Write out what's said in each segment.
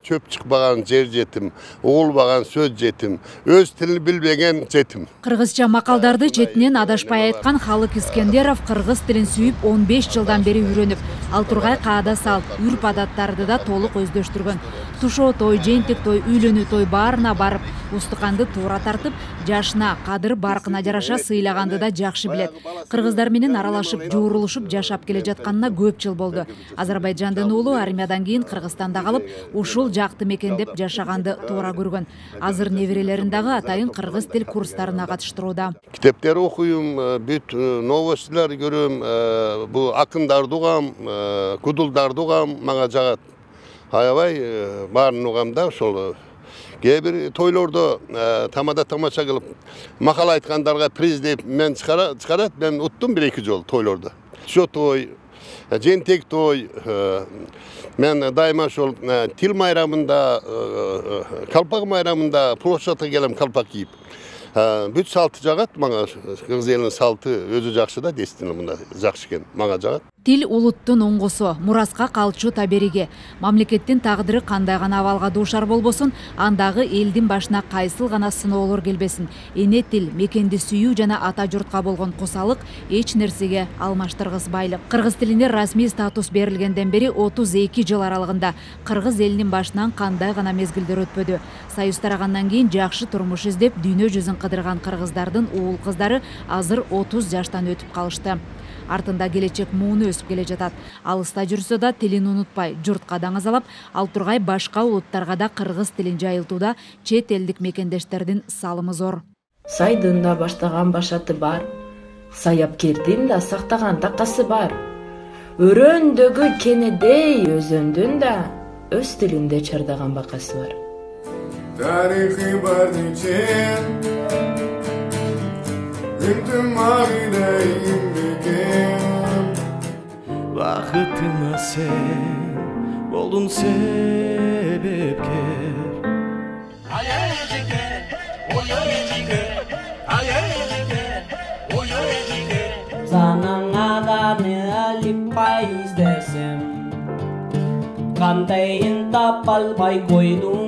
Çöp çıkmagan yer жетим, oğulmagan söz жетим, öz tilini bilbegen жетим. Кыргызча макалдарды четинен адашпай айткан Халык Искендеров кыргыз тилин сүйүп 15 жылдан бери үйрөнүп, ал тургай каада салт, үрп адаттарды да толук өздөштүргөн. Тушоо той, жентик той, үйлөнүү той баарына барып, устуканды туура тартып, жашына, кадыр баркына жараша сыйлаганды да жакшы билет. Кыргыздар менен аралашып, жуурулушуп жашап келе жатканына көп жыл болду. Азербайжандын уулу армиядан кийин Кыргызстанда калып, ушул жакты мекендеп жашаганды туура көргөн. Азыр неберелерин дагы атайын кыргыз тил курстарына катыштырууда. Китептер окуйм, бүт новостилер көрөм, бу акындарды угам, кудулдарды угам, мага жагат. Аябай баарын угам да ошол. Кээ бир тойлордо тамада тамаша кылып, макал айткандарга приз деп мен чыгарат, мен уттум 1-2 жолу тойлордо. Шо той, жентек той, мен дайыма ошол тил майрамында, калпак майрамында площадка келем калпак кийип. Бүт салты жагат мага, кыргыз элинин салты өзү жакшы да, дестин мында жакшы экен, мага жагат. Тил улуттун оңгосу, мураска калчу табериги. Мамлекеттин тагдыры кандай гана абалга дуушар болбосун, андагы элдин башына кайсыл гана сыноолор келбесин. Эне тил, мекенди сүйүү жана ата журтка болгон косалык эч нерсеге алмаштыргысбайлык. Кыргыз тилине расмий статус берилгенден бери 32 жыл аралыгында кыргыз элинин башынан кандай гана мезгилдер өтпөдү. Союз тарагандан кийин жакшы турмуш издеп, дүйнө жүзүн кыдырган кыргыздардын уул кыздары азыр 30 жаштан өтүп калышты. Артында келечек мууну өсүп келе жатат. Алыста жүрсө да тилин унутпай, журтка даңазалап, ал тургай башка улуттарга да кыргыз тилин жайылтууда чет элдик мекендештердин салымы зор. Сайдын да баштаган башаты бар, саяпкердин да сактаган такасы бар. Өрөөндөгү кенедей өзөндүн да өз тилинде чардаган бакасы бар. Тарихи бар Бақытыңа сен болдың себепкер. Санаңаданы алиппай издесем, кандайын тапа албай койдуң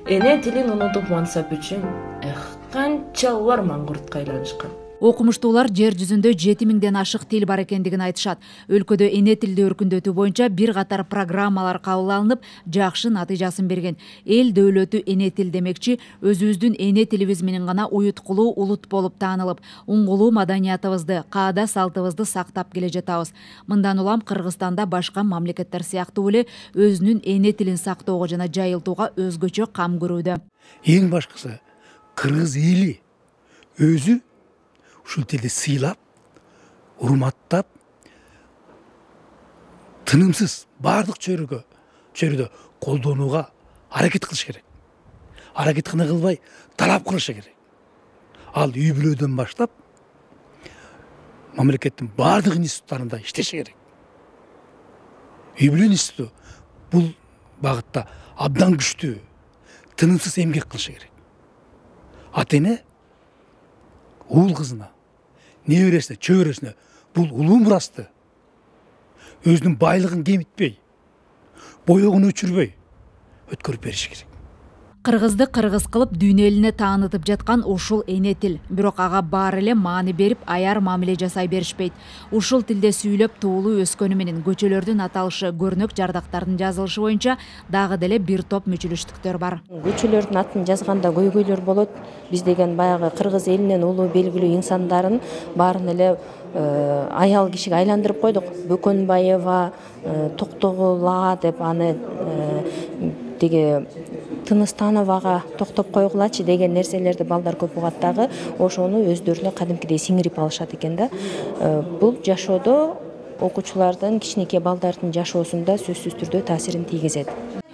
Эне тилин унутуп мансап үчүн канчалар маңгуртка айланышкан. Окумуштуулар жер жүзүндө 7000ден ашык тил бар экендигин айтышат. Өлкөдө эне тилди өркүндөтүү боюнча бир катар программалар кабыл алынып, жакшы натыйжасын берген. Эл дөөлөтү эне тил демекчи, өзүбүздүн эне тилибиз менен гана уюткулуу улут болуп таанылып, уңгулуу маданиятыбызды, каада салтыбызды сактап келе жатабыз. Мындан улам Кыргызстанда башка мамлекеттер сыяктуу эле өзүнүн эне тилин сактоого жана жайылтууга өзгөчө кам көрүүдө. Эң башкысы кыргыз эли өзү ушул тилди сыйлап, урматтап, тынымсыз бардык чөйрөдө колдонууга аракет кылыш керек. Аракет гана кылбай, талап кылышы керек. Ал үй бүлөдөн баштап, мамлекеттин бардык институттарында иштеше керек. Үй бүлө институту бул багытта абдан күчтүү, тынымсыз эмгек кылышы керек. Ата-эне уул кызына, небересине, чөбөрөсүнө бул улуу мурасты өзүнүн байлыгын кемитпей, боёгун өчүрбөй өткөрүп бериш керек. Кыргызды кыргыз кылып дүйнө элине таанытып жаткан ушул эне тил. Бирок ага баары эле маани берип, аяр мамиле жасай беришпейт. Ушул тилде сүйлөп туулуу өскөнү менен көчөлөрдүн аталышы, көрнөк жардактардын жазылышы боюнча дагы деле бир топ мүчүлүштүктөр бар. Көчөлөрдүн атын жазганда көйгөйлөр болот. Биз деген баягы кыргыз элинин улуу белгилүү инсандарын баарын эле аял кишиге айландырып койдук. Бөкөнбаева, Токтогула деп аны деге Тыныстановага токтоп койгулачы деген нерселерди балдар көп угат дагы, ошону өздөрүнө кадимкидей сиңирип алышат экен да. Бул жашоодо окуучулардын, кичинекей балдардын жашоосунда сөзсүз түрдө таасирин тийгизет.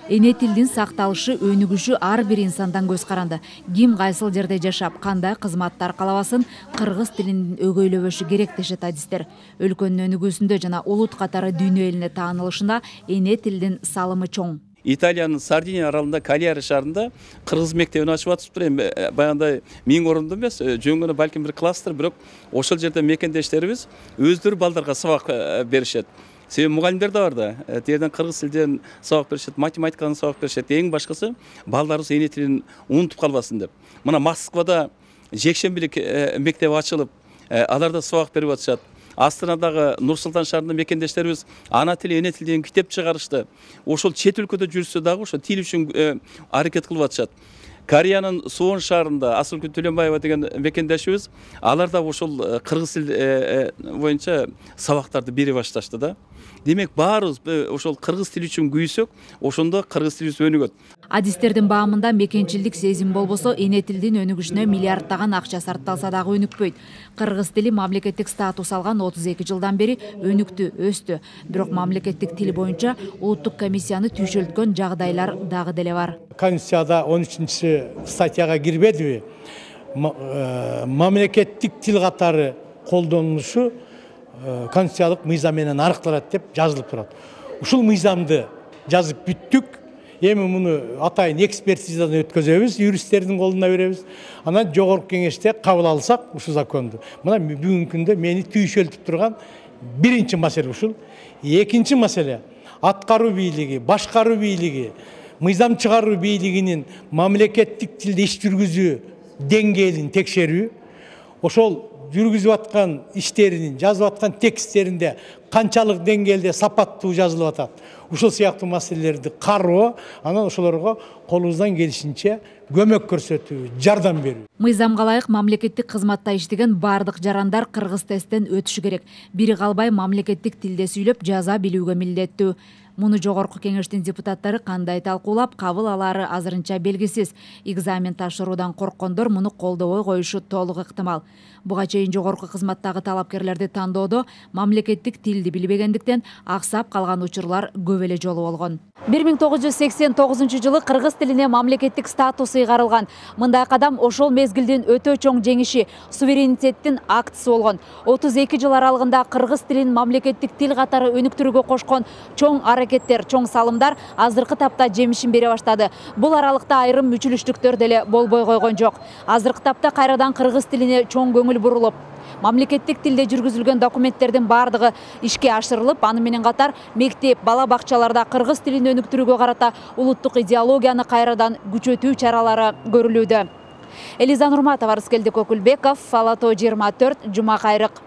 Эне тилдин сакталышы, өнүгүшү ар бир инсандан көз каранды. Ким кайсыл жерде жашап, кандай кызматты аркалабасын, кыргыз тилин өгөйлөбөшү керек дешет адистер. Өлкөнүн өнүгүүсүндө жана улут катары дүйнө элине таанылышында эне тилдин салымы чоң. Италиянын Сардиния аралында Калиари шаарында кыргыз мектебин ачып атышыптыр. Эми баягындай 1000 орунду эмес, жөн гана балким бир класстыр, бирок ошол жерде мекендештерибиз өздөрү балдарга сабак беришет. Себеби мугалимдер да бар да. Тиерден кыргыз тилден сабак беришет, математикадан сабак беришет. Эң башкысы балдарыбыз эне тилин унутуп калбасын деп. Мына Москвада жекшембилик мектеби ачылып, аларда сабак берип атышат. Астанадагы Нур Султан шаарында мекендештерибиз ана тили, эне тил деген китеп чыгарышты. Ошол чет өлкөдө жүрсө дагы ошо тил үчүн аракет кылып атышат. Кореянын Суон шаарында Асылгүл Төлөнбаева деген мекендешибиз, алар да ошол кыргыз тил боюнча сабактарды бере башташты да. Демек баарыбыз ошол кыргыз тили үчүн күйсөк, ошондо кыргыз тилибиз өнүгөт. Адистердин баамында мекенчилдик сезим болбосо, эне тилдин өнүгүшүнө миллиарддаган акча сарпталса дагы өнүкпөйт. Кыргыз тили мамлекеттик статус алган 32 жылдан бери өнүктү, өстү. Бирок мамлекеттик тил боюнча улуттук комиссияны түйшөлткөн жагдайлар дагы деле бар. Конституцияда 13-статьяга кирбедиби? Мамлекеттик тил катары колдонулушу конституциялык мыйзам менен арыкталат деп жазылып турат. Ушул мыйзамды жазып бүттүк. Эми муну атайын экспертизадан өткөзөбүз, юристтердин колуна беребиз. Анан жогорку кеңеште кабыл алсак ушул законду. Мына бүгүнкү күндө мени түйшөлтүп турган биринчи маселе ушул. Экинчи маселе аткаруу бийлиги, башкаруу бийлиги, мыйзам чыгаруу бийлигинин мамлекеттик тилде иш жүргүзүү деңгээлин текшерүү. Ошол жүргүзүп аткан иштеринин, жазып аткан тексттеринде канчалык деңгээлде сапаттуу жазылып атат. Ушул сыяктуу маселелерди кароо, анан ошолорго колубуздан келишинче көмөк көрсөтүү, жардам берүү. Мыйзамга ылайык мамлекеттик кызматта иштеген бардык жарандар кыргыз тесттен өтүшү керек. Бири калбай мамлекеттик тилде сүйлөп жаза билүүгө милдеттүү. Муну жогорку кеңештин депутаттары кандай талкуулап кабыл алары азырынча белгисиз. Экзамен тапшыруудан корккондор муну колдобой коюшу толук ыктымал. Буга чейин жогорку кызматтагы талапкерлерди тандоодо мамлекеттик тилди билбегендиктен аксап калган учурлар көп эле жолу болгон. 1989 кыргыз тилине мамлекеттик статус ыйгарылган. Мындай кадам ошол мезгилдин өтө чоң жеңиши, суверенитеттин актысы болгон. 32 жыл аралыгында кыргыз тилин мамлекеттик тил катары өнүктүрүүгө кошкон чоң аракеттер, чоң салымдар азыркы тапта жемишин бере баштады. Бул аралыкта айрым мүчүлүштүктөр деле болбой койгон жок. Азыркы тапта кайрадан кыргыз тилине чоң көңүл бурулуп, мамлекеттик тилде жүргүзүлгөн документтердин бардыгы ишке ашырылып, аны менен катар мектеп, бала бакчаларда кыргыз тилин өнүктүрүүгө карата улуттук идеологияны кайрадан күчөтүү чаралары көрүлүүдө. Элиза Нурматова, Арыскелди Көкүлбеков, Ала Тоо 24, Жума Кайрык.